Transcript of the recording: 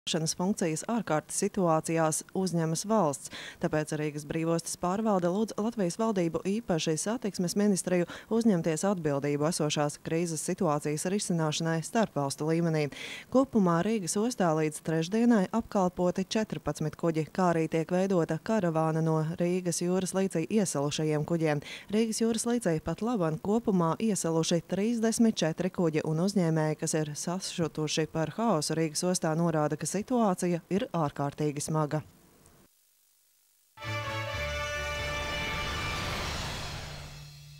funkcijas ārkārtas situācijās uzņemas valsts. Tāpēc Rīgas brīvostas pārvalde lūdz Latvijas valdību, īpaši satiksmes ministriju, uzņemties atbildību esošās krīzes situācijas risināšanai starpvalstu līmenī. Kopumā Rīgas ostā līdz trešdienai apkalpoti 14 kuģi, kā arī tiek veidota karavāna no Rīgas jūras līcī iesalušajiem kuģiem. Rīgas jūras līcī pat laban kopumā iesaluši 34 kuģi, un uzņēmēji, kas ir sašutuši par haosu Rīgas ostā, norāda, ka situācija ir ārkārtīgi smaga.